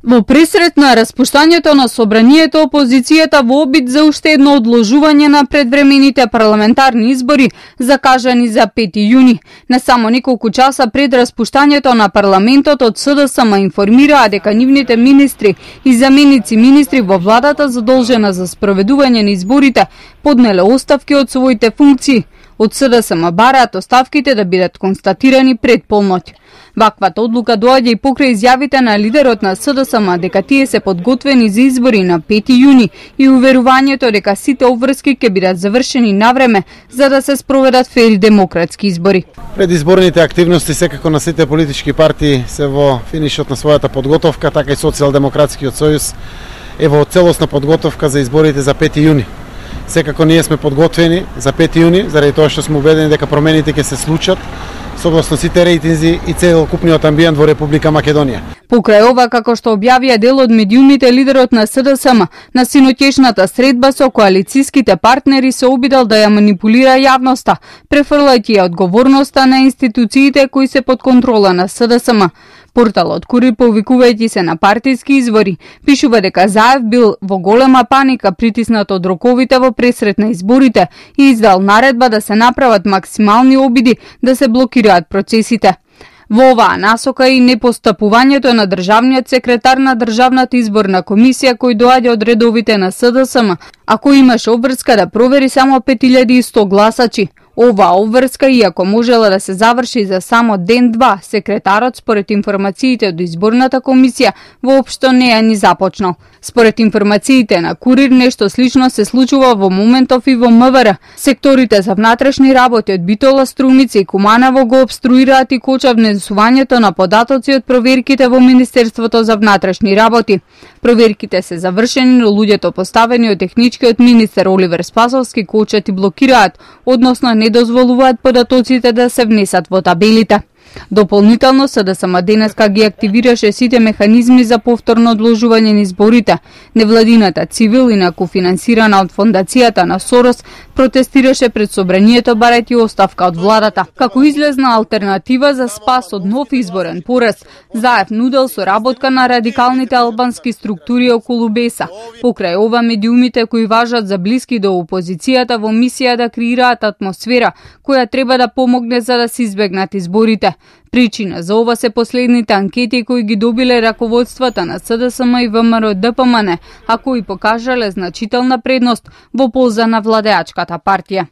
Во пресрет на распуштањето на собранието, опозицијата во обид за уште едно одложување на предвремените парламентарни избори, закажани за 5 јуни. Не само неколку часа пред распуштањето на парламентот, од СДСМ информираа дека нивните министри и заменици министри во владата задолжена за спроведување на изборите поднеле оставки од своите функции. Од СДСМ бараат оставките да бидат констатирани пред полноќ. Ваквата одлука доаѓа и покрај изјавите на лидерот на СДСМ дека тие се подготвени за избори на 5 јуни и уверувањето дека сите обврски ќе бидат завршени навреме за да се спроведат фери демократски избори. Предизборните активности секако на сите политички партии се во финишот на својата подготовка, така и Социјалдемократскиот сојуз е во целосна подготовка за изборите за 5 јуни. Секако ние сме подготвени за 5 јуни, заради тоа што сме убедени дека промените ќе се случат согласно сите рейтинзи и целокупниот амбиент во Република Македонија. Покрај ова, како што објавија дел од медиумите, лидерот на СДСМ на синоќешната средба со коалицијските партнери се обидел да ја манипулира јавноста, префрлајќи ја одговорноста на институциите кои се под контрола на СДСМ. Порталот Курир, повикувајќи се на партиски избори, пишува дека Заев бил во голема паника притиснат од роковите во пресрет на изборите и издал наредба да се направат максимални обиди да се блокираат процесите. Во оваа насока и непостапувањето на државниот секретар на Државната изборна комисија кој доаѓа од редовите на СДСМ, а кој имаше обврска да провери само 5100 гласачи. Оваа обврска, иако можела да се заврши за само ден-два, секретарот, според информациите од изборната комисија, воопшто не ја ни започнал. Според информациите на Курир, нешто слично се случува во моментов и во МВР. Секторите за внатрешни работи од Битола, Струмица и Куманово го обструираат и коча внесувањето на податоци од проверките во Министерството за внатрешни работи. Проверките се завршени, но луѓето поставени од техничкиот министер Оливер Спасовски кочат и блокираат, односно не дозволуваат податоците да се внесат во табелите. Дополнително СДСМ денеска ги активираше сите механизми за повторно одложување на изборите. Невладината цивил, инаку финансирана од фондацијата на Сорос, протестираше пред собранието барајќи оставка од владата. Како излезна алтернатива за спас од нов изборен порез, Заев нудел соработка на радикалните албански структури околу Беса. Покрај ова, медиумите кои важат за блиски до опозицијата во мисија да креираат атмосфера која треба да помогне за да се избегнат изборите. Причина за ова се последните анкети кои ги добиле раководствата на СДСМ и ВМРО ДПМН, а кои покажале значителна предност во полза на владеачката партија.